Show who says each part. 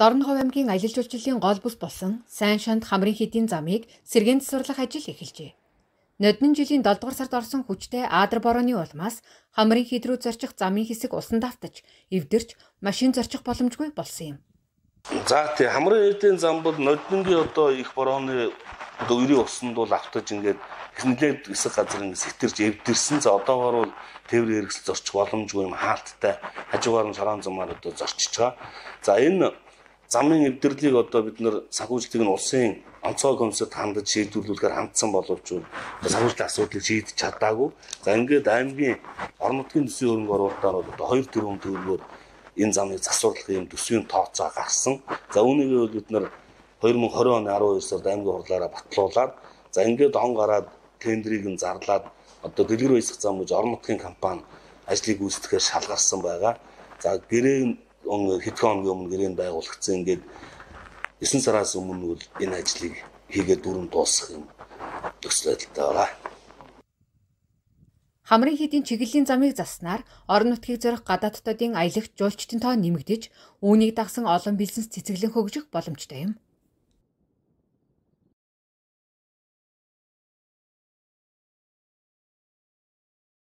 Speaker 1: Дорнохов аймгийн аялал жуулчлалын гол бүс болсон Сайн шанд хамрын хэдийн замыг сэргээн засварлах ажил эхэлжээ. Ноднон жилийн 7 дугаар сард орсон хүчтэй Аадар борооны улмаас хамрын хід рүү зорчих замын хэсэг усан давтаж, эвдэрч машин зорчих боломжгүй болсон юм.
Speaker 2: За тий хамрын хэдийн зам бол Ноднонгийн одоо их борооны өрийн усанд бол автаж ингээд нэлээд хэсэг газрын сэтэрж эвдэрсэн. За одоогоор бол тээврийн хэрэгсэл зорчих боломжгүй юм хаалттай хажуугаар нь шорон замаар одоо зорчиж байгаа. За энэ замын эвдэрлийг одоо бид нэр санхүүжилтийг нь улсын онцгой комиссад хандаж шийдвэрлүүлэхээр хандсан боловч санхүүжилтийн асуудлыг шийдэж чадаагүй. За ингээд аймгийн орон нутгийн төсвийн хөрөнгө оруулалтаар бол одоо 2 тэрбум төгрөгөөр энэ замыг засварлах юм төсвийн тооцоо гарсан. За үүнийг бол бид нэр 2020 оны 12 сард аймгийн хурлаараа батлуулаад за ингээд он гараад тендерийг нь зарлаад одоо дэлгэр баясах зам гэж орон нутгийн компани ажлыг гүйцэтгэхээр шалгарсан байгаа. За гэрээ хэдхэн хоногийн өмнө гэрээнд байгуулагдсан ингээд 9 сараас өмнө бол энэ ажлыг хийгээд дүрэн дуусгах юм төсөл байдалтай байгаа.
Speaker 1: Хамрын хэдийн чиглэлийн замыг заснаар орон нутгийг зорих гадаадтуудын аялагч жуулчдын тоо нэмэгдэж, үүнийг дагсан олон бизнес цэцэглэн хөгжих боломжтой юм.